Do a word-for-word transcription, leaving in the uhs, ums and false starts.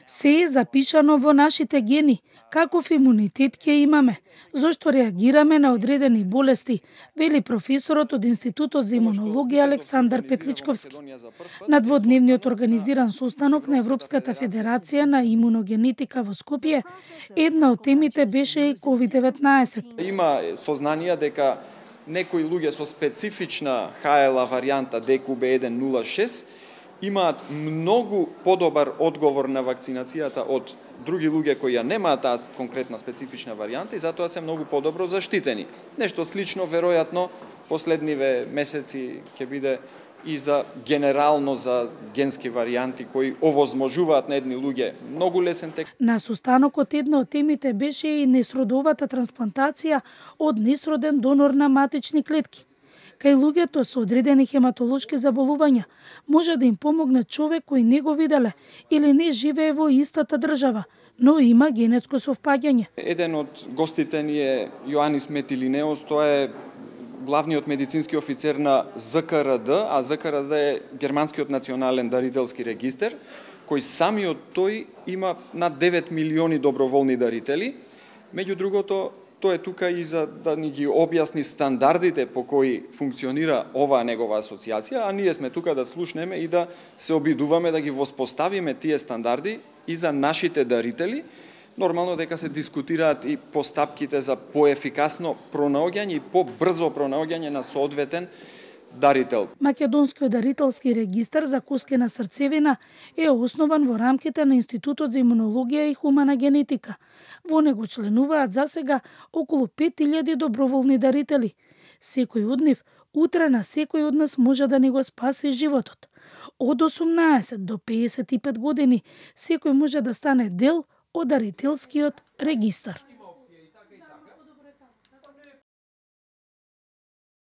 Се е запишано во нашите гени, каков имунитет ќе имаме, зошто реагираме на одредени болести, вели професорот од Институтот за имунологија Александар Петличковски. На дводневниот организиран состанок на Европската федерација на имуногенетика во Скопје, една од темите беше и ковид деветнаесет. Има сознанија дека некои луѓе со специфична Х Л А варијанта Д Q B еден нула шест имаат многу подобар одговор на вакцинацијата од други луѓе кои ја немаат таа конкретна специфична варијанта и затоа се многу подобро заштитени. Нешто слично веројатно последниве месеци ќе биде и за генерално за генски варијанти кои овозможуваат на едни луѓе многу лесен тек. На состанокот една од темите беше и несродовата трансплантација од несроден донор на матични клетки. Кај луѓето со одредени хематолошки заболувања може да им помогне човек кој не го виделе или не живее во истата држава, но има генетско совпаѓање. Еден од гостите ни е Јоанис Метилинеос, тоа е главниот медицински офицер на З К Р Д, а З К Р Д е Германскиот национален дарителски регистер, кој самиот тој има над девет милиони доброволни дарители. Меѓу другото, тој е тука и за да ни ги објасни стандардите по кои функционира оваа негова асоциација, а ние сме тука да слушнеме и да се обидуваме да ги воспоставиме тие стандарди и за нашите дарители. Нормално дека се дискутираат и постапките за поефикасно пронаоѓање и побрзо пронаоѓање на соодветен дарител. Македонскиот дарителски регистар за коскена срцевина е основан во рамките на Институтот за имунологија и хумана генетика. Во него членуваат засега околу пет илјади доброволни дарители. Секој од нив утре на секој од нас може да ни го спаси животот. Од осумнаесет до пеесет и пет години секој може да стане дел од дарителскиот регистар.